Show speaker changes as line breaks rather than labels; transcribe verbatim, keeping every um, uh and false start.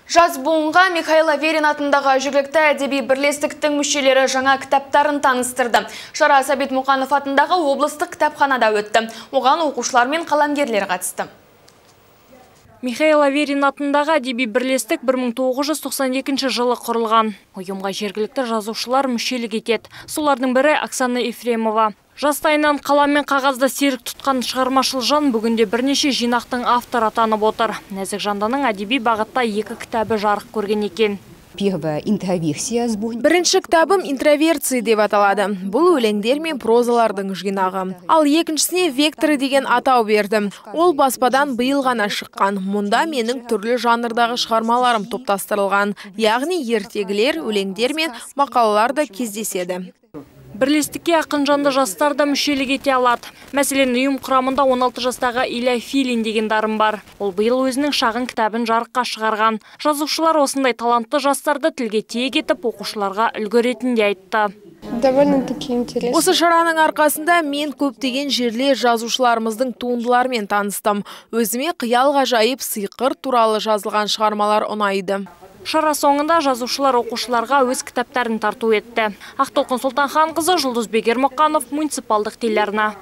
Жаз буынға Михаил Аверин атындағы жергілікті әдеби бірлестіктің мүшелері жаңа кітаптарын таныстырды. Шара Сәбит Мұқанов атындағы облыстық кітапханада өтті. Оған оқушылар мен қаламгерлер қатысты.
Михаил Аверин атындағы әдеби бірлестік бір мың тоғыз жүз тоқсан екінші жылы құрылған. Ұйымға жергілікті жазушылар мүшелік етеді. Солардың бірі Оксана Ефремова. Жастайынан қалам мен қағазда серік тұтқан шығармашыл жан бүгінде бірнеше жинақтың автор атанып отыр. Нәзік жанданың әдеби бағытта екі кітабы жарық көрген екен.
Бірінші кітабым «Интроверция» деп аталады. Бұл өлеңдер мен прозалардың жинағы. Ал екіншісіне «Векторы» деген атау бердім. Ол баспадан биыл ғана шыққан. Мұнда менің түрлі жанрдағы шығармаларым топтастырылған. Яғни ертегілер, өлеңдер мен мақалалар да кездеседі.
Бірлестікке ақын жанды жастар да мүшелік ете алады. Мәселен, ұйым құрамында он алты жастағы Илья Филин деген дарын бар. Ол биыл өзінің шағын кітабын жарыққа шығарған. Жазушылар осындай талантты жастарды тілге тиек етіп, оқушыларға үлгі ретінде айтты.
Осы шараның арқасында мен көптеген жерлер жазушыларымыздың туындыларымен таныстым. Өзіме қиял ғажайып сиқыр туралы жазылған шығармалар ұнайды.
Шара соңында жазушылар оқушыларға өз кітаптарын тарту етті. Ақтолқын Сұлтанханқызы, Жұлдыз Бегермұқанов, муниципалдық телеарна.